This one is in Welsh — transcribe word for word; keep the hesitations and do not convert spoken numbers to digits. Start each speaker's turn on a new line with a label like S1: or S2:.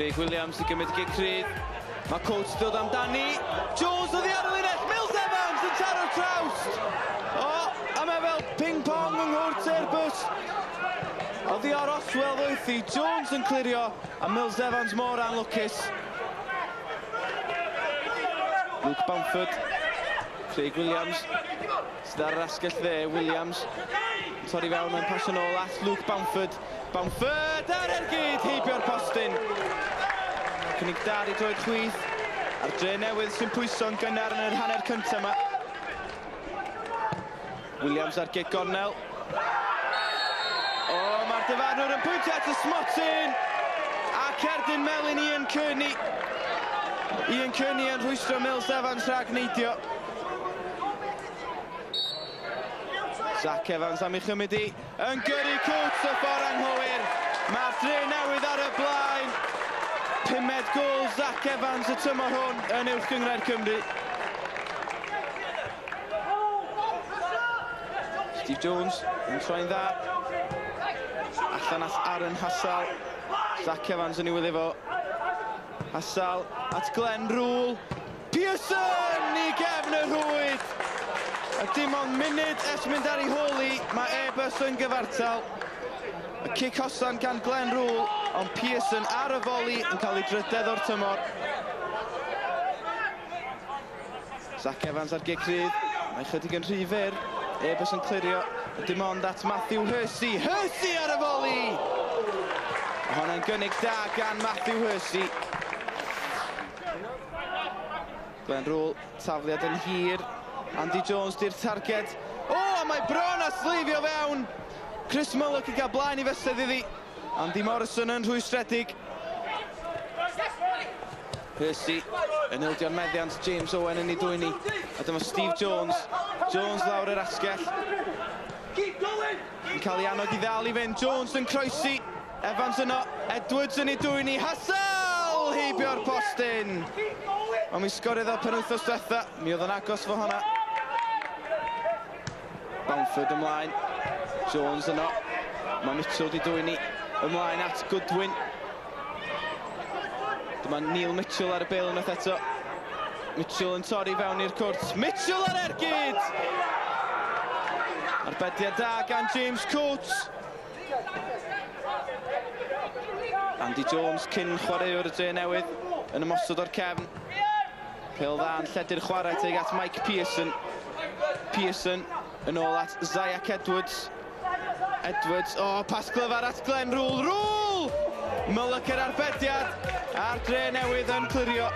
S1: Craig Williams i gymryd gic rhydd. Mae Coates dod amdani. Jones oddi ar y linell. Mills Evans yn taro'r trawst. O, a mae fel ping-pong yng nghwrt Airbus. Oddi ar Oswell ddoethi. Jones yn clirio a Mills Evans mor anlwcus. Luke Bamford. Craig Williams sydd ar yr asgell dde. Williams torri fewn yn pasio nôl at Luke Bamford. Bamford ar ergyd heibio'r postyn. Cynnig da i droed chwith. A'r Dre Newydd sy'n pwyso'n gynnar yn yr hanner cyntaf yma. Williams ar gic gornel. O, mae'r dyfarnwr yn pwyntio at y smotyn. A cerdyn melyn Ian Kearney. Ian Kearney yn rhwystro Mills Evans rhag neidio. Zach Evans am ei chymryd i. Yn gyrru Coates y ffordd anghywir. Mae'r Dre Newydd ar y blaen. Pumed gôl Zach Evans y tymor hwn yn Uwch Gynghrair Cymru. Steve Jones yn troi'n dda. Allan at Aaron Hassel. Zach Evans yn ei wylio fo. Hassel at Glenn Rule. Pearson i gefn y rhwyd. A dim ond munud ers mynd ar ei hôl i, mae Airbus yn gyfartal. Y cic hosan gan Glenn Rule, ond Pearson ar y foli yn cael ei drydedd o'r tymor. Zach Evans ar gic rhydd, mae chydig yn rhy fyr. Airbus yn clirio, dim ond at Matthew Hersey. Hersey ar y foli! A honna'n gynnig da gan Matthew Hersey. Glenn Rule, tafliad yn hir. Andy Jones di'r targed. O, a mae bron a sleifio fewn. Chris Mullock yn cael blaen i fysedd iddi. Andy Morrison yn rhwystredig. Hersey yn ildio'r meddiant. James Owen yn ei dwyni. A dyma Steve Jones. Jones lawr yr asgell. Yn cael ei annog i ddal i fynd. Jones yn croesi. Evans yno. Edwards yn ei dwyni. Hassel heibio'r postyn. Ond mi sgoriodd o penwythnos diwetha. Mi oedd yn agos fo honna. Bamford ymlaen. Jones yno. Mae Mitchell di dwyni ymlaen at Goodwin. Dyma Neil Mitchell ar y bêl unwaith eto. Mitchell yn torri fewn i'r cwrt. Mitchell ar ergyd! Arbediad da gan James Coates. Andy Jones, cyn chwaraewr y Dre Newydd, yn ymosod o'r cefn. Pêl dda yn lledu'r chwarae tuag at Mike Pearson. Pearson yn ôl at Zach Edwards. Edwards, o, oh, pas glyfar at Glenn Rule. Rule! Mullock yr arbediad a'r Dre Newydd yn clirio.